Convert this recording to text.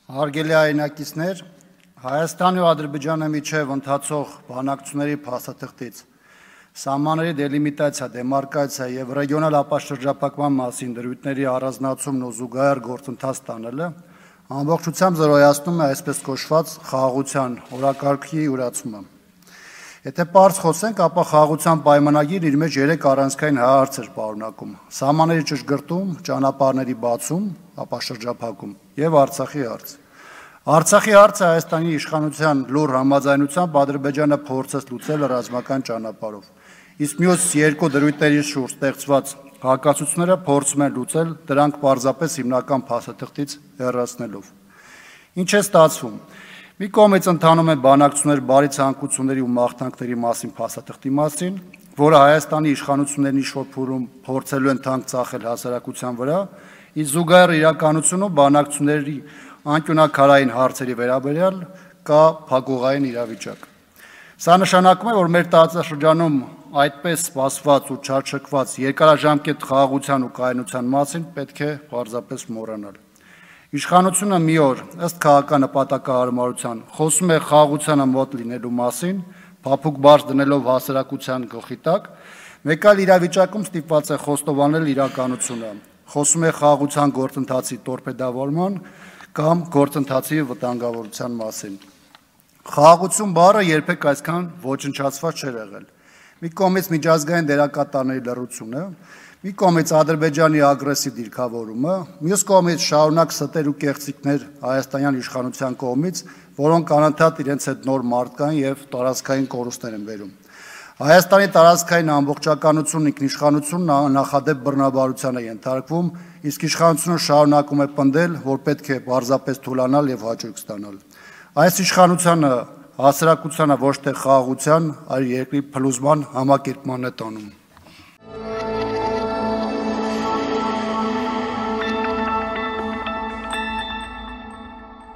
Հարգելի հայրենակիցներ, Հայաստանի ու Ադրբեջանի միջև ընթացող բանակցությունների փաստաթղթից սահմանների դելիմիտացիա, դեմարկացիա եւ ռեգիոնալ ապաշրջափակման մասին դրույթների առանձնացումն ու զուգահեռ գործընթաց տանելը ամբողջությամբ զրոյացնում է այսպես կոչված խաղաղության օրակարգի յուրացումը։ Եթե պարզ խոսենք, ապա խաղաղության պայմանագիրը իր մեջ 3 առանցքային հարցեր պարունակում՝ սահմանների ճշգրտում, ճանապարհների բացում, ապաշրջափակում եւ Արցախի հարց։ Արցախի հարցը Հայաստանի իշխանության լուռ համաձայնությամբ Ադրբեջանը փորձեց լուծել ռազմական ճանապարհով, իսկ մյուս 2 դրույթների շուրջ ստեղծված հակասությունները փորձում են լուծել դրանք պարզապես հիմնական փաստաթղթից հեռացնելով։ Ինչ է ստացվում։ Մի կողմից ընթանում են բանակցություններ բարի ցանկությունների ու մաղթանքների մասին փաստաթղթի մասին, որը Հայաստանի իշխանություններն ինչ-որ փուլում փորձելու են թանկ ծախել հասարակության վրա, իսկ զուգահեռ իրականությունում բանակցությունների անկյունակարային հարցերի վերաբերյալ կա փակուղային իրավիճակ։ Սա նշանակում է, որ մեր տարածաշրջանում այդպես սպասված ու չարչկված երկարաժամկետ խաղաղության ու կայունության մասին պետք է պարզապես մոռանալ։ Իշխանությունը մի օր ըստ քաղաքական նպատակահարմարության խոսում է խաղաղությանը մոտ լինելու մասին, փափուկ բարձ դնելով հասարակության գլխի տակ, մեկ այլ իրավիճակում ստիպված է խոստովանել իրականությունը, խոսում է խաղաղության գործընթացի տորպեդավորման կամ գործընթացի վտանգավորության մասին։ Խաղաղություն բառը երբեք այսքան ոչնչացված չէր եղել։ Մի կողմից միջազգային դերակատարների լռությունը, մի կողմից Ադրբեջանի ագրեսիվ դիրքավորումը, մյուս կողմից շարունակ ստեր ու կեղծիքներ հայաստանյան իշխանության կողմից, որոնք անընդհատ իրենց հետ նոր մարդկային եւ տարածքային կորուստներ են բերում։ Հայաստանի տարածքային ամբողջականությունն ինքնիշխանությունն նախադեպ բռնաբարության է ենթարկվում, իսկ իշխանությունը շարունակում է պնդել, որ պետք է պարզապես թուլանալ եւ հաջորդ ստանալ։ Այս իշխանությունը հասարակությանը ոչ թե խաղաղության, այլ երկրի փլուզման համակերպման է տանում։